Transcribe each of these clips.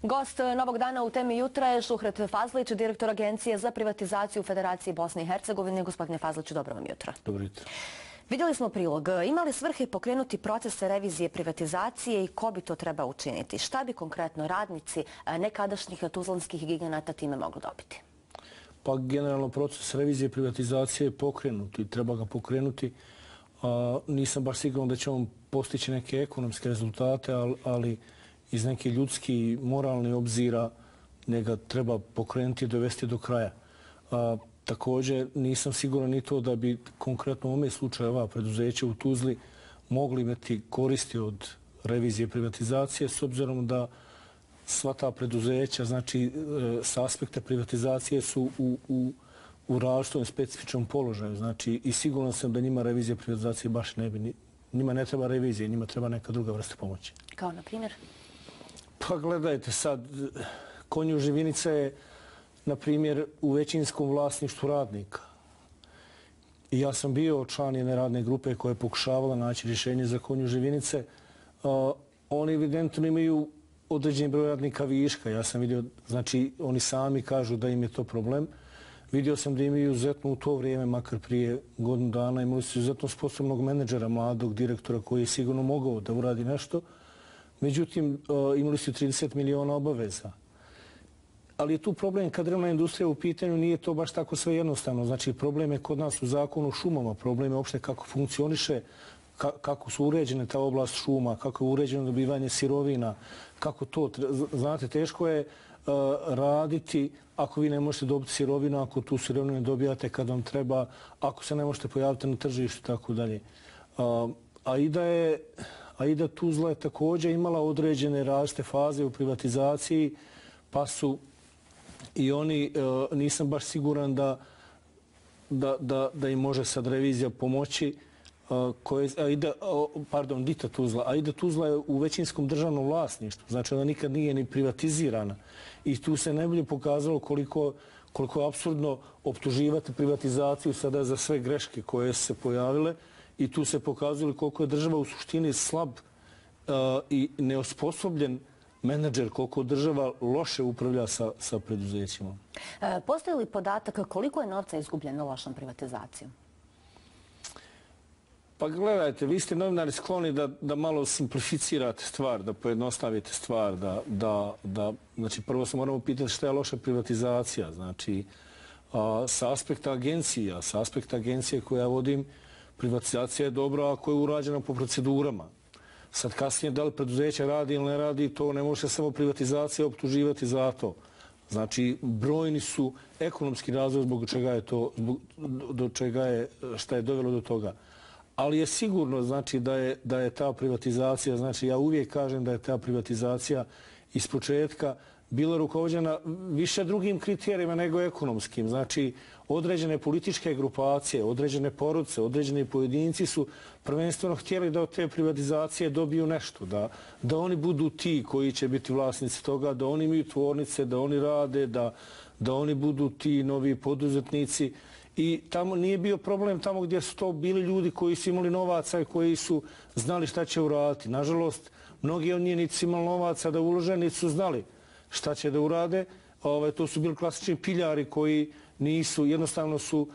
Gost Novog dana u temi jutra je Šuhret Fazlić, direktor Agencije za privatizaciju u Federaciji Bosne i Hercegovine. Gospodine Fazliću, dobro vam jutro. Dobro jutro. Vidjeli smo prilog. Ima li svrhe pokrenuti proces revizije privatizacije i ko bi to treba učiniti? Šta bi konkretno radnici nekadašnjih tuzlanskih giganata time mogli dobiti? Pa generalno proces revizije privatizacije je pokrenut i treba ga pokrenuti. Nisam baš siguran da će on postići neke ekonomske rezultate, ali iz neke ljudski i moralni obzira njega treba pokrenuti i dovesti do kraja. Također nisam siguran ni to da bi konkretno u ovome slučaju ova preduzeća u Tuzli mogli imati koristi od revizije privatizacije, s obzirom da sva ta preduzeća, znači s aspekta privatizacije su u različitom specifičnom položaju. Znači i siguran sam da njima revizija privatizacije baš ne bi, njima ne treba revizija, njima treba neka druga vrsta pomoći. Kao na primjer? Pa gledajte sad, Konju Živinica je, na primjer, u većinskom vlasništvu radnika. I ja sam bio član jedne radne grupe koja je pokušavala naći rješenje za Konju Živinice. Oni evidentno imaju određeni broj radnika viška. Ja sam vidio, znači oni sami kažu da im je to problem. Vidio sam da imaju izuzetno u to vrijeme, makar prije godinu dana, imali su izuzetno sposobnog menadžera, mladog direktora koji je sigurno mogao da uradi nešto. Međutim, imali su 30 miliona obaveza. Ali je tu problem kad drvna industrija u pitanju, nije to baš tako sve jednostavno. Znači, problem je kod nas u zakonu o šumama, problem je uopšte kako funkcioniše, kako su uređene ta oblast šuma, kako je uređeno dobivanje sirovina, kako to, znate, teško je raditi ako vi ne možete dobiti sirovinu, ako tu sirovinu ne dobijate kad vam treba, ako se ne možete pojaviti na tržištu i tako dalje. Aida Tuzla je također imala određene različite faze u privatizaciji, pa su i oni, nisam baš siguran da im može sad revizija pomoći. Dita Tuzla. Aida Tuzla je u većinskom državnom vlasništvu, znači ona nikad nije ni privatizirana. I tu se najbolje pokazalo koliko je apsurdno optuživati privatizaciju sada za sve greške koje su se pojavile. I tu se pokazalo koliko je država u suštini slab i neosposobljen menadžer, koliko država loše upravlja sa preduzećima. Postoji li podatak koliko je novca izgubljeno lošom privatizacijom? Pa gledajte, vi ste novinari skloni da malo simplificirate stvar, da pojednostavite stvar, znači prvo se moramo pitati šta je loša privatizacija, znači sa aspekta agencije koje ja vodim, privatizacija je dobra ako je urađena po procedurama. Sad kasnije da li preduzeće radi ili ne radi, to ne može samo privatizacija optuživati za to. Znači, brojni su ekonomski razvoj zbog čega je to, šta je dovelo do toga. Ali je sigurno, znači, da je ta privatizacija, znači, ja uvijek kažem da je ta privatizacija iz početka bila rukovođena više drugim kriterijima nego ekonomskim. Znači, određene političke grupacije, određene porodice, određeni pojedinci su prvenstveno htjeli da od te privatizacije dobiju nešto, da oni budu ti koji će biti vlasnici toga, da oni imaju tvornice, da oni rade, da oni budu ti novi poduzetnici. I tamo nije bio problem tamo gdje su to bili ljudi koji su imali novaca i koji su znali šta će uraditi. Nažalost, mnogi od njih niti su imali novaca da ulože, niti su znali šta će da urade. To su bili klasični piljari koji nisu, jednostavno su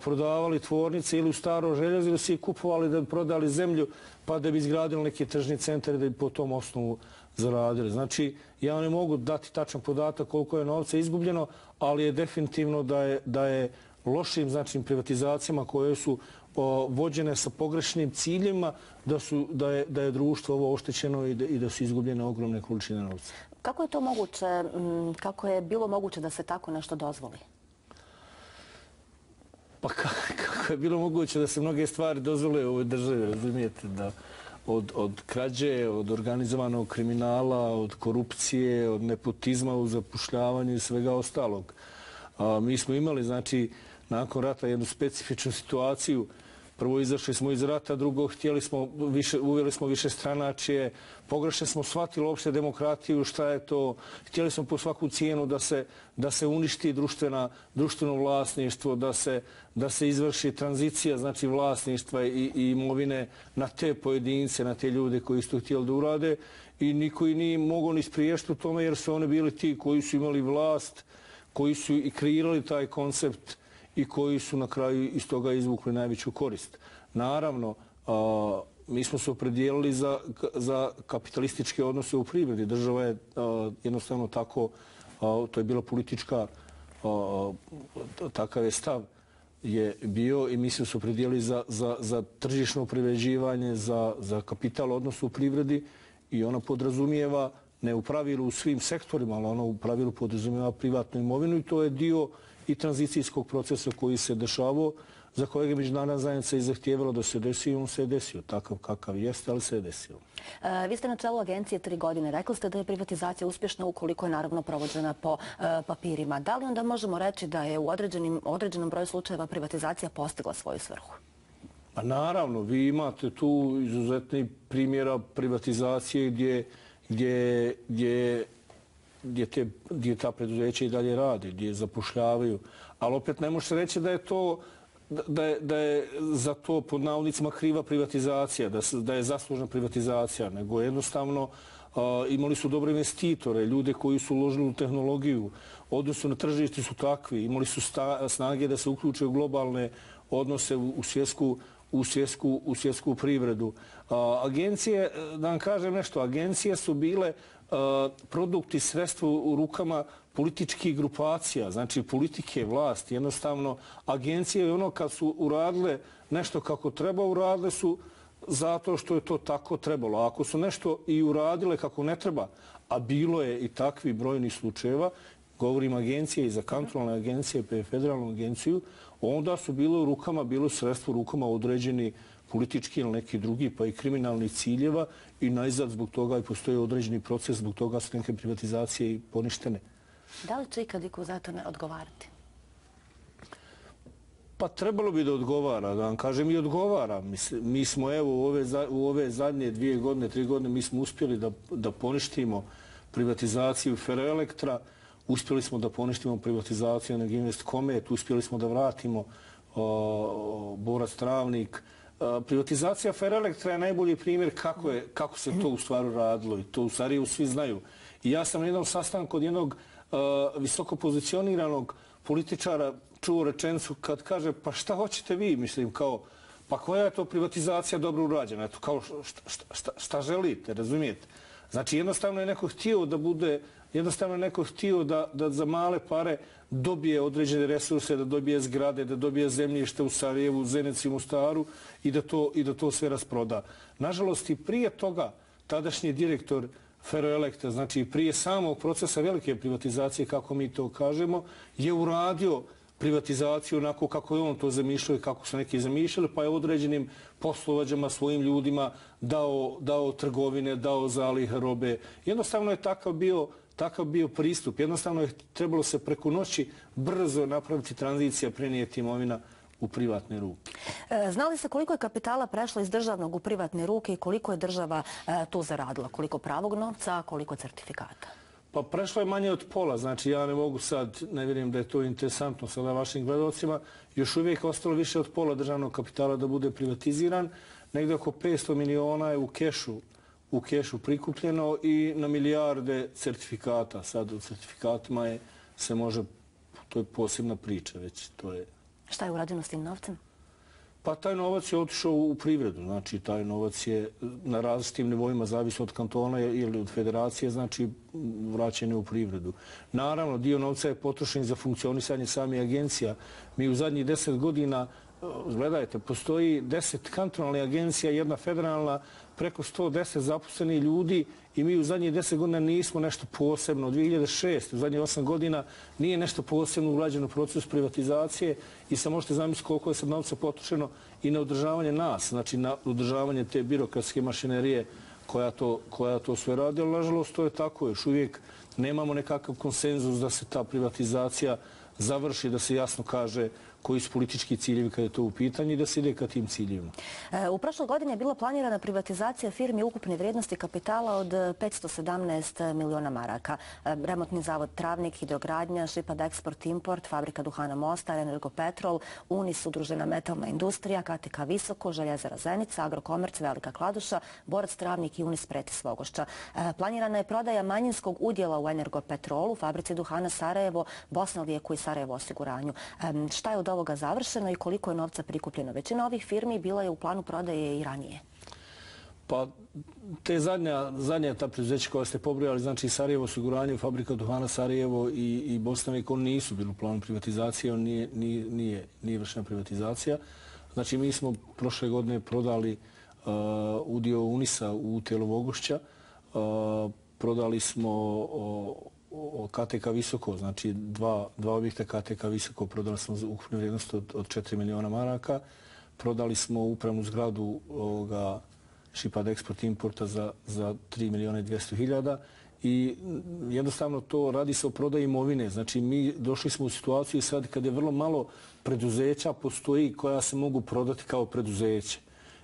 prodavali tvornice ili u staro željezo ili su ih kupovali da bi prodali zemlju pa da bi izgradili neki tržni centar i da bi po tom osnovu zaradili. Znači, ja ne mogu dati tačan podatak koliko je novca izgubljeno, ali je definitivno da je lošim, znači, privatizacijama koje su vođene sa pogrešnim ciljima, da je društvo ovo oštećeno i da su izgubljene ogromne količine novca. Kako je to moguće, kako je bilo moguće da se tako nešto dozvoli? Pa kako je bilo moguće da se mnoge stvari dozvole u ovoj državi, razumijete, da od krađe, od organizovanog kriminala, od korupcije, od nepotizma u zapošljavanju i svega ostalog. Mi smo imali, znači, nakon rata jednu specifičnu situaciju. Prvo izašli smo iz rata, drugo uveli smo više stranačije, pogrešno smo shvatili uopšte demokratiju, šta je to, htjeli smo po svaku cijenu da se uništi društveno vlasništvo, da se izvrši tranzicija, znači vlasništva i imovine na te pojedince, na te ljude koji su htjeli da urade. i niko i nije mogao ni spriješiti u tome jer su oni bili ti koji su imali vlast, koji su i kreirali taj koncept i koji su na kraju iz toga izvukli najveću korist. Naravno, mi smo se opredijelili za kapitalističke odnose u privredi. Država je jednostavno tako, to je bila politička, takav je stav je bio i mi smo se opredijelili za tržišno privređivanje, za kapital odnosa u privredi i ona podrazumijeva, ne u pravilu u svim sektorima, ali ona u pravilu podrazumijeva privatnu imovinu i to je dio i tranzicijskog procesa koji se dešavao, za kojeg je međunarodna zajednica i zahtijevala da se desi i on se je desio. Takav kakav jeste, ali se je desio. Vi ste na čelu agencije 3 godine. Rekli ste da je privatizacija uspješna ukoliko je naravno provođena po papirima. Da li onda možemo reći da je u određenom broju slučajeva privatizacija postigla svoju svrhu? Pa naravno, vi imate tu izuzetni primjera privatizacije gdje ta preduzeća i dalje rade, gdje zapošljavaju. Ali opet ne može se reći da je to da je za to pod navodnicima kriva privatizacija, da je zaslužna privatizacija, nego jednostavno imali su dobre investitore, ljude koji su uložili u tehnologiju, odnosno na tržišti su takvi, imali su snage da se uključe u globalne odnose u svjetsku privredu. Agencije, da vam kažem nešto, agencije su bile produkt i sredstvo u rukama političkih grupacija, znači politike, vlasti. Jednostavno, agencije i ono kad su uradile nešto kako treba, uradile su zato što je to tako trebalo. A ako su nešto i uradile kako ne treba, a bilo je i takvi brojni slučajeva, govorim agencije i za kontrolne agencije, pa i federalnu agenciju, onda su bilo sredstvo u rukama određeni politički ili neki drugi, pa i kriminalni ciljeva i najzad zbog toga i postoji određeni proces, zbog toga su neke privatizacije i poništene. Da li će ikad iko za to ne odgovarati? Pa trebalo bi da odgovara, da vam kažem i odgovara. Mi smo evo u ove zadnje 2 godine, 3 godine, mi smo uspjeli da poništimo privatizaciju Ferroelektra, uspjeli smo da poništimo privatizaciju Energinvest Komet, uspjeli smo da vratimo Borac Travnik. Privatizacija Ferroelektra je najbolji primjer kako se to u stvari radilo i to u Sarajevu svi znaju. I ja sam na jednom sastanku od jednog visoko pozicioniranog političara čuo rečenicu kad kaže pa šta hoćete vi, mislim kao pa koja je to privatizacija dobro urađena, eto kao šta želite, razumijete? Znači jednostavno je neko htio da bude, jednostavno je neko htio da za male pare dobije određene resurse, da dobije zgrade, da dobije zemljište u Sarajevu, Zenici, Mostaru i da to sve rasproda. Nažalost i prije toga tadašnji direktor Ferroelektra, znači prije samog procesa velike privatizacije, kako mi to kažemo, je uradio privatizaciju onako kako je on to zamišljao i kako su neki zamišljali, pa je određenim poslovođama svojim ljudima dao trgovine, dao zalihe robe. Jednostavno je takav bio pristup. Jednostavno je trebalo se preko noći brzo napraviti tranzicija, prenijeti imovina u privatne ruke. Znali se koliko je kapitala prešlo iz državnog u privatne ruke i koliko je država tu zaradila? Koliko pravog novca, koliko certifikata? Pa prešlo je manje od pola, znači ja ne mogu sad, ne vjerujem da je to interesantno sada vašim gledalcima, još uvijek ostalo više od pola državnog kapitala da bude privatiziran, negdje oko 500 miliona je u kešu prikupljeno i na milijarde certifikata. Sad u certifikatima se može, to je posebna priča već, to je... Šta je urađeno s tim novcem? Pa taj novac je otišao u privredu, znači taj novac je na različitim nivoima, zavisno od kantona ili od federacije, znači vraćen je u privredu. Naravno, dio novca je potrošen za funkcionisanje samih agencija. Mi u zadnjih 10 godina, gledajte, postoji 10 kantonalnih agencija, jedna federalna, preko 110 zaposlenih ljudi i mi u zadnjih 10 godina nismo nešto posebno. Od 2006. u zadnjih 8 godina nije nešto posebno urađeno u procesu privatizacije i sad možete zamisliti koliko je sad novca potrošeno i na održavanje nas, znači na održavanje te birokratske mašinerije koja to sve radi, ali nažalost to je tako. Još uvijek nemamo nekakav konsenzus da se ta privatizacija završi, da se jasno kaže koji su politički ciljevi kada je to u pitanju i da se ide ka tim ciljevima. U prošloj godini je bila planirana privatizacija firmi ukupne vrijednosti kapitala od 517 miliona maraka. Remontni zavod Travnik, Hidrogradnja, Šipad Export Import, Fabrika duhana Mostar, Energopetrol, Unis, Udružena metalna industrija, KTK Visoko, Željezara Zenica, Agrokomerc, Velika Kladuša, Borac Travnik i Unis Preti Svogošća. Planirana je prodaja manjinskog udjela u Energopetrolu, Fabrici duhana Sarajevo, Bosna Lijeku i Sarajevo osiguranju. Šta je od ovoga završeno i koliko je novca prikupljeno? Većina ovih firmi bila je u planu prodaje i ranije. Pa te zadnja ta preduzeća koja ste pobrojali, znači Sarajevo osiguranje, Fabrika duhana Sarajevo i Bosna Lijeku, oni nisu bili u planu privatizacije, nije vršena privatizacija. Znači mi smo prošle godine prodali udio Unisa u Telo Vogošća, prodali smo KTK Visoko, znači dva objekta KTK Visoko, prodali smo za ukupnu vrijednost od 4 miliona maraka, prodali smo upravnu zgradu Šipad Export Importa za 3 miliona i 200 hiljada i jednostavno to radi se o prodaji imovine. Znači mi došli smo u situaciju sad kad je vrlo malo preduzeća postoji koja se mogu prodati kao preduzeće.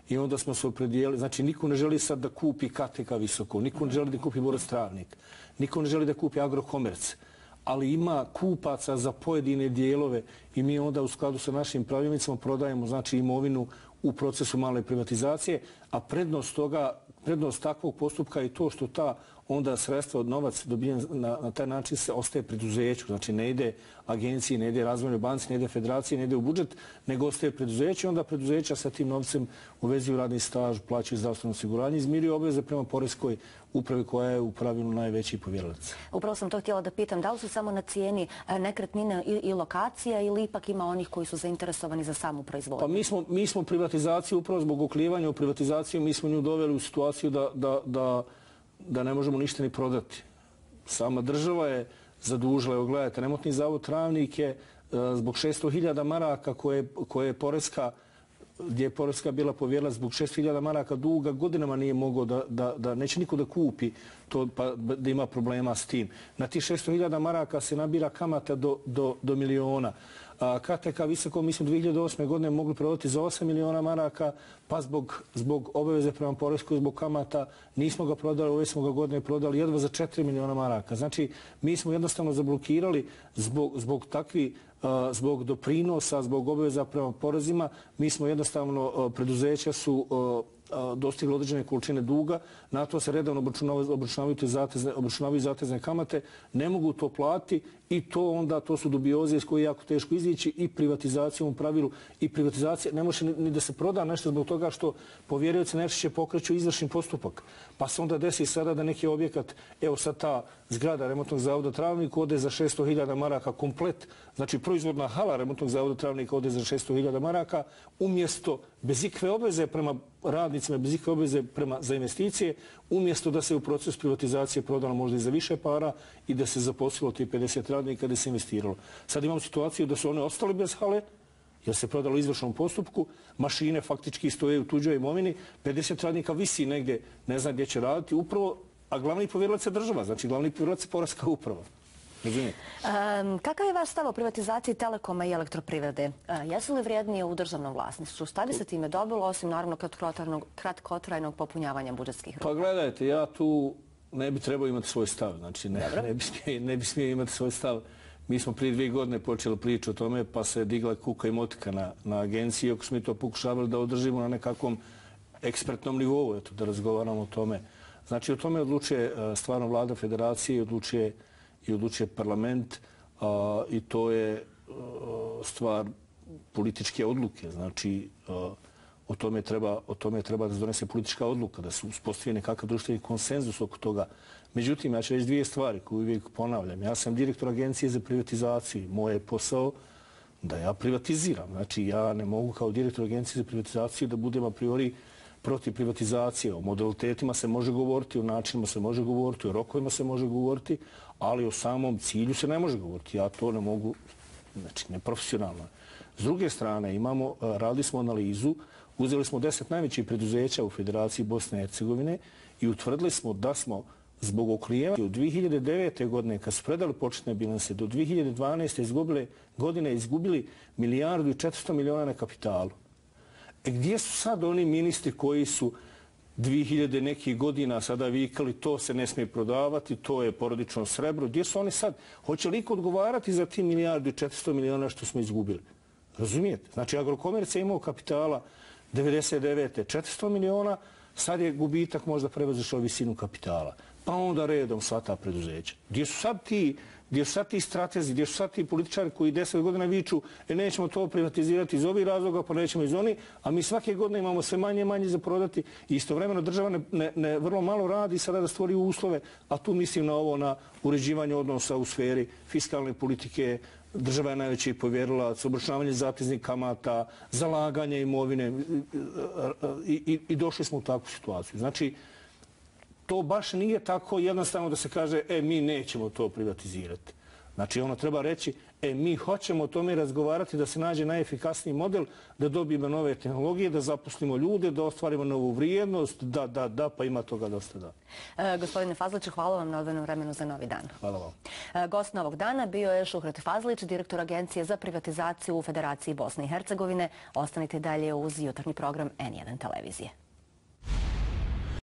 I onda smo se opredijeli, znači niko ne želi sad da kupi KTK Visoko, niko ne želi da kupi Borac Travnik, niko ne želi da kupi Agrokomerc, ali ima kupaca za pojedine dijelove i mi onda u skladu sa našim pravilnicama prodajemo znači imovinu u procesu male privatizacije, a prednost takvog postupka je to što ta onda sredstva od novac dobijen na taj način se ostaje preduzeću. Znači ne ide agenciji, ne ide razvojnoj banci, ne ide federaciji, ne ide u budžet, nego ostaje preduzeću. Onda preduzeća sa tim novcem uvezuju radni staž, plaćaju zdravstveno osiguranje, izmiruju obveze prema poreskoj upravi koja je u pravilu najveći povjerilac. Upravo sam to htjela da pitam, da li su samo na cijeni nekretnine i lokacija ili ipak ima onih koji su zainteresovani za samu proizvodnju? Pa mi smo privatizaciju, upravo zbog oklivanja u privatizaciju, mi smo nju doveli u situaciju da ne možemo ništa ni prodati. Sama država je zadužila, evo gledajte, remontni zavod Travnik je zbog 600.000 maraka koje je poreska, gdje je poreska bila povjerila zbog 600.000 maraka duga, godinama nije mogao da neće niko da kupi to, pa da ima problema s tim. Na tih 600.000 maraka se nabira kamata do miliona. KTK Visoko mi smo 2008. godine mogli prodati za 8 miliona maraka, pa zbog obaveze prema poreskoj, zbog kamata nismo ga prodali, ove smo ga godine prodali jedva za 4 miliona maraka. Znači, mi smo jednostavno zablokirali zbog doprinosa, zbog obaveza prema porezima, mi smo jednostavno, preduzeća su dostigli određene količine duga, na to se redavno obračunavaju zatezne kamate, ne mogu to platiti i to su dubioze iz koje je jako teško izići i privatizacijom u pravilu. I privatizacija ne može ni da se proda nešto zbog toga što povjerioci najčešće pokreću izvršni postupak. Pa se onda desi sada da neki objekat, evo sad ta zgrada remontnog zavoda Travnik ode za 600.000 maraka komplet, znači proizvodna hala remontnog zavoda Travnika ode za 600.000 maraka, umjesto bez ikve obveze prema radnicima, bez ikve obveze za investicije, umjesto da se u proces privatizacije prodalo možda i za više para i da se zaposlilo ti 50 radnika da se investiralo. Sad imamo situaciju da su one ostali bez hale, jer se prodalo u izvršnom postupku, mašine faktički stoje u tuđoj imovini, 50 radnika visi negdje, ne zna gdje će raditi, upravo, a glavni povjerilac je država, znači glavni povjerilac je poreska uprava. Kakav je vaš stav o privatizaciji Telekoma i elektroprivrede? Jesu li vrijednije u državnom vlasništvu? Šta bi se time dobilo, osim naravno kratkotrajnog popunjavanja budžetskih rupa? Pa gledajte, ja tu ne bi trebao imati svoj stav. Znači ne bi smio imati svoj stav. Mi smo prije 2 godine počeli priču o tome, pa se digla kuka i motika na agenciji, ako smo mi to pokušavali da održimo na nekakvom ekspertnom nivou, da razgovaramo o tome. Znači o tome odlučuje stvarno vlada federacije i odlučuje parlament i to je stvar političke odluke. Znači o tome treba da se donese politička odluka, da se uspostavi nekakav društveni konsenzus oko toga. Međutim, ja ću reći 2 stvari koje uvijek ponavljam. Ja sam direktor Agencije za privatizaciju. Moj je posao da ja privatiziram. Znači ja ne mogu kao direktor Agencije za privatizaciju da budem a priori protiv privatizacije. O modalitetima se može govoriti, o načinima se može govoriti, o rokovima se može govoriti, ali o samom cilju se ne može govoriti. Ja to ne mogu, znači neprofesionalno. S druge strane, radili smo analizu, uzeli smo 10 najvećih preduzeća u Federaciji Bosne i Hercegovine i utvrdili smo da smo zbog oklijevanja od 2009. godine, kad su predali početne bilanse, do 2012. godine izgubili 1,4 milijarda na kapitalu. Gdje su sad oni ministri koji su 2000 nekih godina sada vikali to se ne smije prodavati, to je porodično srebro? Gdje su oni sad? Hoće li iko odgovarati za ti 1,4 milijarda što smo izgubili? Razumijete? Znači, Agrokomerc je imao kapitala 99. 400 miliona, sad je gubitak možda prevazišao visinu kapitala. Pa onda redom sva ta preduzeća. Gdje su sad ti stratezi, gdje su sad ti političari koji 10 godina viču nećemo to privatizirati iz ovih razloga, pa nećemo iz onih, a mi svake godine imamo sve manje i manje za prodati i istovremeno država ne vrlo malo radi sada da stvori uslove, a tu mislim na ovo, na uređivanje odnosa u sferi fiskalne politike. Država je najveći povjerilac, obračunavanje zateznih kamata, zalaganje imovine i došli smo u takvu situaciju. Znači, to baš nije tako jednostavno da se kaže mi nećemo to privatizirati. Znači, ono treba reći mi hoćemo o tome razgovarati da se nađe najefikasniji model, da dobijemo nove tehnologije, da zaposlimo ljude, da ostvarimo novu vrijednost, da, pa ima toga dosta da. Gospodine Fazlić, hvala vam na odvojenom vremenu za Novi dan. Hvala vam. Gost novog dana bio je Šuhret Fazlić, direktor Agencije za privatizaciju u Federaciji Bosne i Hercegovine. Ostanite dalje uz jutarnji program N1 televizije.